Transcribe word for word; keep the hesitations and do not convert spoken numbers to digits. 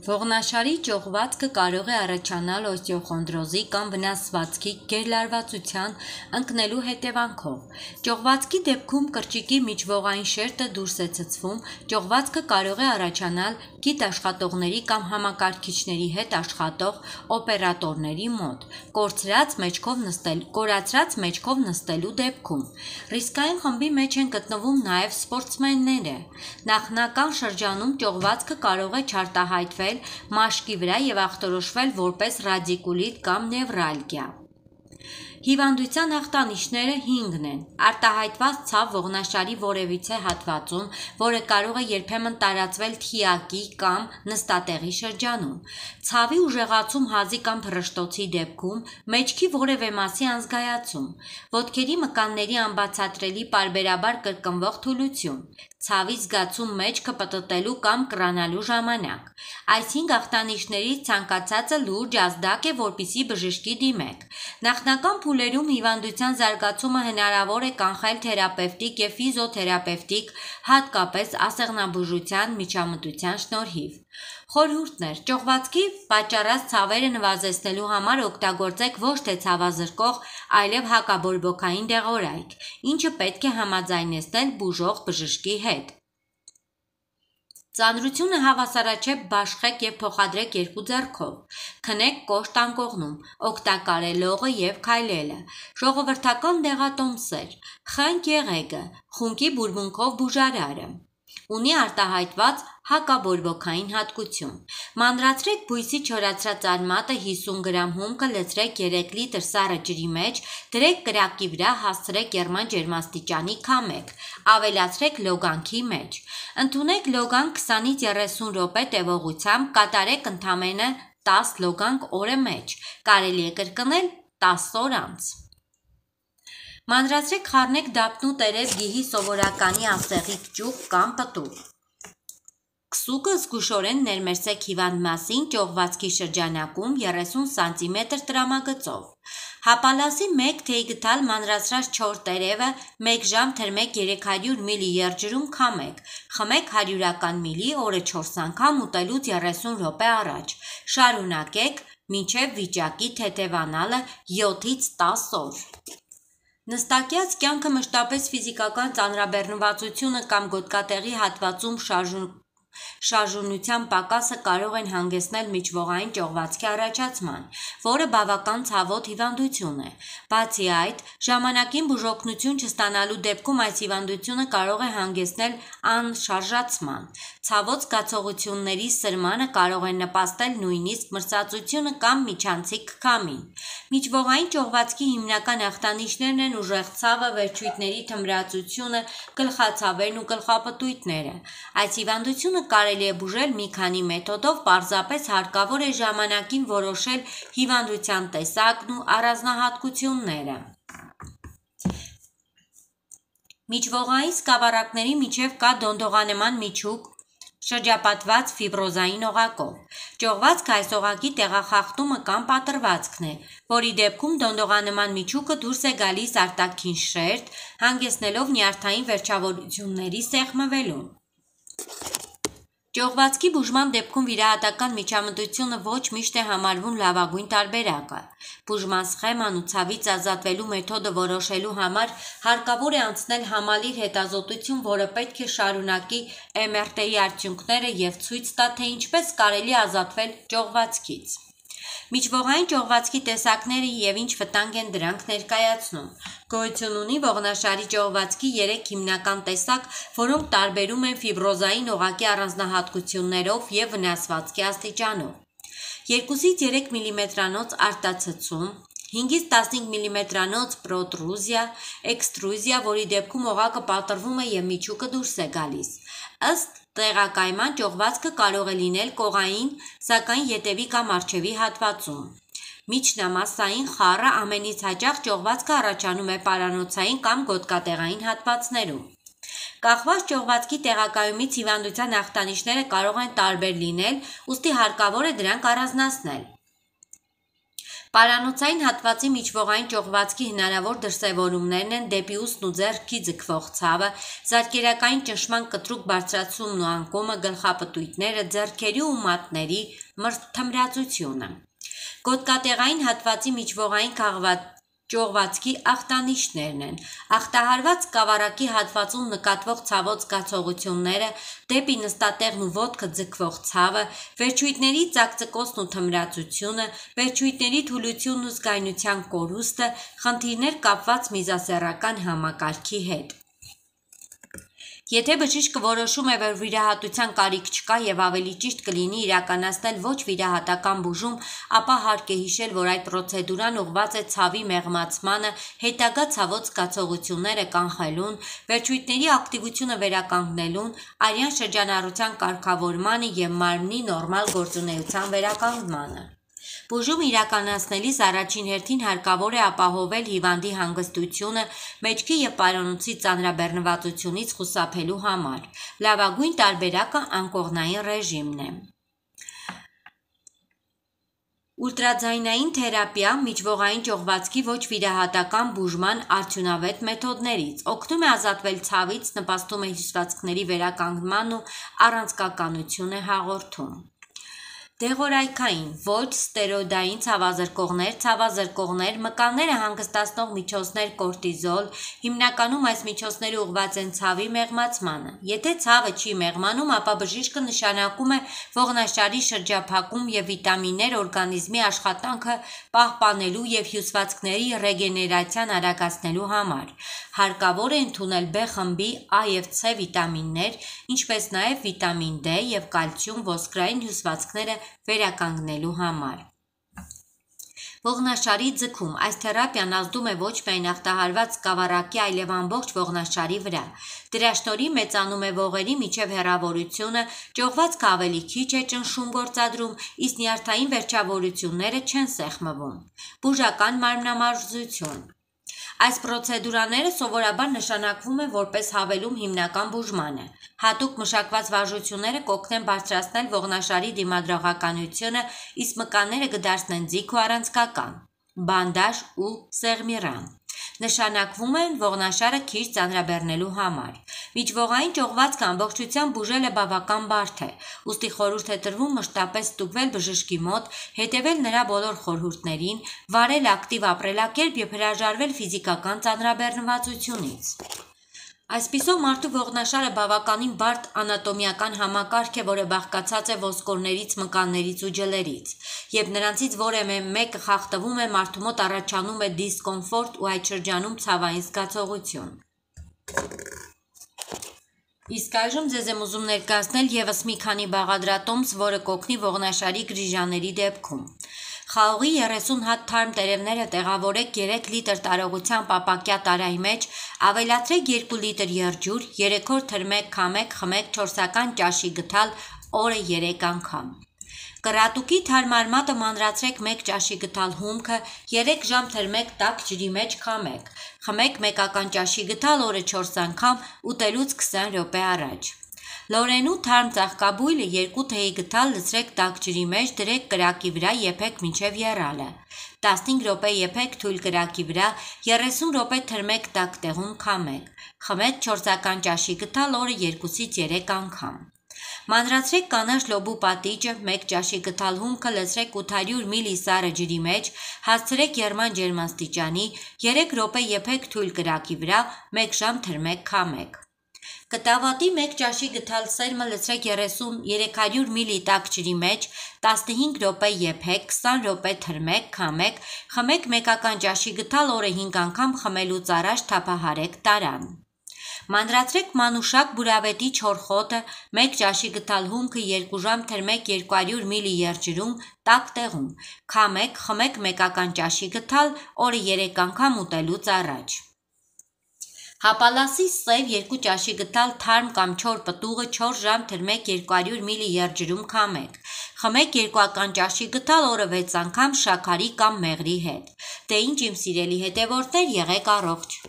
Ողնաշարի ճողվածքը կարող է առաջանալ օստեոխոնդրոզի կամ վնասվածքի գերլարվածության ընկնելու հետևանքով։ Ճողվածքի դեպքում կրճիկի միջվողային շերտը դուրս է ցցվում, ճողվածքը կարող է առաջանալ գիտաշխատողների կամ համակարգիչների հետ աշխատող օպերատորների մոտ, կորցրած մեջքով նստել, կորացրած մեջքով նստելու դեպքում։ Ռիսկային խմբի մեջ են գտնվում նաև սպորտսմենները։ Նախնական շրջանում ճողվածքը կարող է չարտահայտվել մաշկի վրա և ախտորոշվել որպես ռադիկուլիտ կամ նևրալգիա։ Հիվանդության ախտանիշները հինգն են. արտահայտված ցավ ողնաշարի որևիցե հատվածում, որը կարող է երբեմն տարածվել թիակի կամ նստատեղի շրջանում, ցավի ուժեղացում հազի կամ փռշտոցի դեպքում, մեջքի որևէ մասի անզգայացում, ոտքերի մկանների անբացատրելի պարբերաբար կրկնվող թուլություն, ցավի զգացում մեջքը պտտելու կամ կռանալու ժամանակ։ Այս հինգ ախտանիշներից ցանկացածը լուրջ ազդակ է, որպեսզի բժշկի դիմեք։ Նախնական փուլերում հիվանդության զարգացումը հնարավոր է կանխել թերապևտիկ և ֆիզիոթերապևտիկ, հատկապես ասեղնաբուժության միջամտության շնորհիվ։ Խորհուրդներ. ճողվածքի պատճառած ցավերը նվազեցնելու համար օգտագործեք ոչ թե ցավազրկող, այլև հակաբորբոքային դեղորայք, ինչը պետք է համաձայնեցնել բուժող բժշկի հետ։ Ծանրությունը հավասարաչափ բաշխեք և փոխադրեք երկու ձեռքով։ Քնեք կոշտ անկողնում, օգտակար է լողը և քայլելը։ Ժողովրդական դեղատոմսեր. խնկ եղեգը, խունկի բուրմունքով բուժարարը։ Ունի արտահայտված հակաբորբոքային հատկություն։ Մանրացրեք բույսի չորացրած արմատը հիսուն գրամ հումքը լցրեք երեք լիտր սառը ջրի մեջ, դրեք կրակկի վրա, հասցրեք եռման ջերմաստիճանի, քամեք, ավելացրեք լոգանքի մեջ։ Ընդունեք լոգանք քսանից երեսուն րոպե տևողությամբ, կատարեք ընդամենը տաս լոգանք օրը մեջ, կարելի է կրկնել տասը օր անց։ Մանրացրեք խառնեք դափնու տերև գիհի սովորականի ասեղիկ ճուղ կամ պտուղ։ Քսուկը զգուշորեն ներմեսեք հիվանդ մասին ճողվածքի շրջանակում երեսուն սանտիմետր տրամագծով։ Հապալասի մեկ թեյ գդալ մանրացրած չոր տերևը մեկ ժամ թրմեք երեք հարյուր միլի եղջյուրում քամեք, խմեք հարյուրական միլի օրը չորս անգամ ուտելուց երեսուն րոպե առաջ։ Շարունակեք մինչև վիճակի թեթևանալը յոթից տասը օր։ Նստակյաց կյանքը մշտապես ֆիզիկական ծանրաբեռնվածությունը կամ գոտկատեղի հատվածում շարժունության պակասը կարող են հանգեցնել միջվողային ճողվածքի առաջացման, որը բավական ցավոտ հիվանդություն է։ Բացի այդ, ժամանակին բուժօգնություն չստանալու դեպքում այս հիվանդությունը կարող է հանգեցնել անշարժացման։ Ցավոտ զգացողությունների սրմանը կարող են նպաստել նույնիսկ մրսածությունը կամ միջանցիկ քամին։ Միջվողային ճողվածքի հիմնական ախտանիշներն են ուժեղ ցավը, վերջույթների թմրածությունը, գլխացավերն ու գլխապտույտները։ Այս հիվանդությունը կարելի է բուժել մի քանի մեթոդով, պարզապես հարկավոր է ժամանակին որոշել հիվանդության տեսակն ու առանձնահատկությունները։ Միջվողային սկավառակների միջև կա դոնդողանման միջուկ շրջապատված ֆիբրոզային օղակով։ Ճողվածքը այս օղակի տեղախախտումը կամ պատռվածքն է, որի դեպքում դոնդողանման միջուկը դուրս է գալիս արտաքին շերտ, հանգեցնելով նյարդային վերջավորությունների սեղմվելուն։ Ճողվածքի բուժման դեպքում վիրահատական միջամտությունը ոչ միշտ է համարվում լավագույն տարբերակը։ Բուժման սխեման ու ցավից ազատվելու մեթոդը որոշելու համար հարկավոր է անցնել համալիր հետազոտություն, որը պետք է շարունակի էմ եր տեի արդյունքները և ցույց տա, թե ինչպես կարելի է ազատվել ճողվածքից։ Միջվողային ճողվածքի տեսակները և ինչ վտանգ են դրանք ներկայացնում։ Գոյություն ունի ողնաշարի ճողվածքի երեք հիմնական տեսակ, որոնք տարբերում են ֆիբրոզային օղակի առանձնահատկություններով և վնասվածքի աստիճանով։ երկուսից երեք միլիմետրանոց արտացցում, հինգից տասնհինգ միլիմետրանոց պրոտրուզիա, էքստրուզիա, որի դեպքում օղակը պատռվում է և միջուկը դուրս է գալիս։ Ըստ տեղակայման ճողվածքը կարող է լինել կողային, սակայն ետևի կամ առջևի հատվածում։ Միջնամասային խառը ամենից հաճախ ճողվածքը առաջանում է պարանոցային կամ գոտկատեղային հատվածներում։ Կախված ճողվածքի տեղակայումից հիվանդության ախտանիշները կարող են տարբեր լինել, ուստի հարկավոր է դրանք առանձնացնել։ Պարանոցային հատվածի միջվողային ճողվածքի հնարավոր դրսևորումներն են դեպի ուսն ու ձեռքի ձգվող ցավը, զարկերակային ճնշման կտրուկ բարձրացումն ու անկումը, գլխապտույտները, ձեռքերի ու մատների թմրածությունը։ Գոտկատեղային հատվածի միջվողային ճողվածքի ախտանիշներն են ախտահարված սկավառակի հատվածում նկատվող ցավոտ զգացողությունները, դեպի նստատեղն ու ոտքը ձգվող ցավը, վերջույթների ծակծկոցն ու թմրածությունը, վերջույթների թուլությունն ու զգայունության կորուստը, խնդիրներ կապված միզասեռական համակարգի հետ։ Եթե բժիշկը որոշում է, որ վիրահատության կարիք չկա եւ ավելի ճիշտ կլինի իրականացնել ոչ վիրահատական բուժում, ապա հարկ է հիշել, որ այդ պրոցեդուրան ուղղված է ցավի մեղմացմանը, հետագա ցավոտ զգացողությունները կանխելուն, վերջույթների ակտիվությունը վերականգնելուն, արյան շրջանառության կարգավորմանը եւ մարմնի նորմալ գործունեության վերականգնմանը։ Բուժում իրականացնելիս առաջին հերթին հարկավոր է ապահովել հիվանդի հանգստությունը մեջքի եւ պարանոցի ծանրաբեռնվածությունից խուսափելու համար։ Լավագույն տարբերակը անկողնային ռեժիմն է։ Ուլտրաձայնային թերապիա միջվողային ճողվածքի ոչ վիրահատական բուժման արդյունավետ մեթոդներից, օգնում է ազատվել ցավից, նպաստում է հյուսվածքների վերականգնմանն ու առանցքականություն է հաղորդում։ Դեղորայքային, ոչ ստերոիդային ցավազրկողներ, ցավազրկողներ, մկանները հանգստացնող միջոցներ, կորտիզոլ, հիմնականում այս միջոցները ուղղված են ցավի մեղմացմանը։ Եթե ցավը չի մեղմանում, ապա բժիշկը նշանակում է ողնաշարի շրջափակում եւ վիտամիններ օրգանիզմի աշխատանքը պահպանելու եւ հյուսվածքների ռեգեներացիան արագացնելու համար։ Հարկավոր է ընդունել B խմբի A եւ C վիտամիններ, ինչպես նաեւ վիտամին D եւ կալցիում ոսկրային հյուսվածքները վերականգնելու համար։ Ողնաշարի ձգում այս թերապիան ազդում է ոչ միայն ախտահարված սկավառակի, այլև ամբողջ ողնաշարի վրա։ Դրա շնորհիվ մեծանում է ողերի միջև հեռավորությունը, ճողվածքը ավելի քիչ է ճնշում գործադրում, իսկ նյարդային վերջավորությունները չեն սեղմվում։ Բուժական մարմնամարզություն։ Այս պրոցեդուրաները սովորաբար նշանակվում են որպես հավելում հիմնական բուժմանը։ Հատուկ մշակված վարժությունները կօգնեն բարձրացնել ողնաշարի դիմադրողականությունը, իսկ մկանները կդարձնեն ձիգ ու առանցքական։ Բանդաժ ու սեղմիրան նշանակվում են ողնաշարը քիչ ծանրաբեռնելու համար։ Միջվողային ճողվածքը ամբողջությամբ բուժելը բավական բարդ է, ուստի խորհուրդ է տրվում մշտապես ստուգվել բժշկի մոտ, հետևել նրա բոլոր խորհուրդներին, վարել ակտիվ ապրելակերպ եւ հրաժարվել ֆիզիկական ծանրաբեռնվածությունից։ Այսպիսով մարդու ողնաշարը բավականին բարդ անատոմիական համակարգ է, որը բաղկացած է ոսկորներից, մկաններից ու ջլերից։ Երբ նրանցից որևէ մեկը խախտվում է, մարդու մոտ առաջանում է դիսկոմֆորտ ու այդ շրջանում ցավային զգացողություն։ Իսկ այժմ ձեզ եմ ուզում ներկայացնել եւս մի քանի բաղադրատոմս, որը կօգնի ողնաշարի գրիժաների դեպքում։ Խաղողի երեսուն հատ թարմ տերևները տեղավորեք երեք լիտր տարողությամբ ապակյա տարայի մեջ, ավելացրեք երկու լիտր եղջյուր, երեք օր թրմեք, քամեք, խմեք չորսական ճաշի գթալ օրը երեք անգամ։ Կռատուկի թարմարմատը մանրացրեք մեկ ճաշի գթալ հումքը, երեք ժամ թրմեք տաք ջրի մեջ քամեք։ Խմեք մեկական ճաշի գթալ օրը չորս անգամ, ուտելուց քսան րոպե առաջ։ Լորենու թարմ ծաղկաբույլը երկու թեյի գթալ լցրեք տաք ջրի մեջ, դրեք կրակի վրա, եփեք մինչև եռալը։ տասնհինգ րոպե եփեք թույլ կրակի վրա, երեսուն րոպե թրմեք տաք տեղում քամեք։ Խմեք չորսական ճաշի գթալ օրը երկուսից երեք անգամ։ Մանրացրեք կանաչ լոբու պատիճը, մեկ ճաշի գթալ հումքը լցրեք ութ հարյուր միլի սառը ջրի մեջ, հասցրեք եռման ջերմաստիճանի, երեք րոպե եփեք թույլ կրակի վրա, մեկ ժամ թրմեք քամեք։ Կտավատի մեկ ճաշի գթալ սերմը լցրեք երեք հարյուր միլի տաք ջրի մեջ, տասնհինգ րոպե եփեք, քսան րոպե թրմեք, քամեք, խմեք մեկական ճաշի գթալ օրը հինգ անգամ, խմելուց առաջ թափահարեք տարան։ Մանրացրեք մանուշակ բուրավետի չոր խոտը, մեկ ճաշի գթալ հումքը երկու ժամ թրմեք երկու հարյուր միլի եղջյուրում, տաք տեղում, քամեք, խմեք մեկական ճաշի գթալ օրը երեք անգամ ուտելուց առաջ։ Հապալասի սև երկու ճաշի գթալ թարմ կամ չոր պտուղը չորս ժամ թրմեք երկու հարյուր միլի եղջյուրում քամեք։ Խմեք երկուական ճաշի գթալ օրը վեց անգամ շաքարի կամ մեղրի հետ։ Դե ինչ իմ սիրելի հետևորդներ, եղեք առողջ։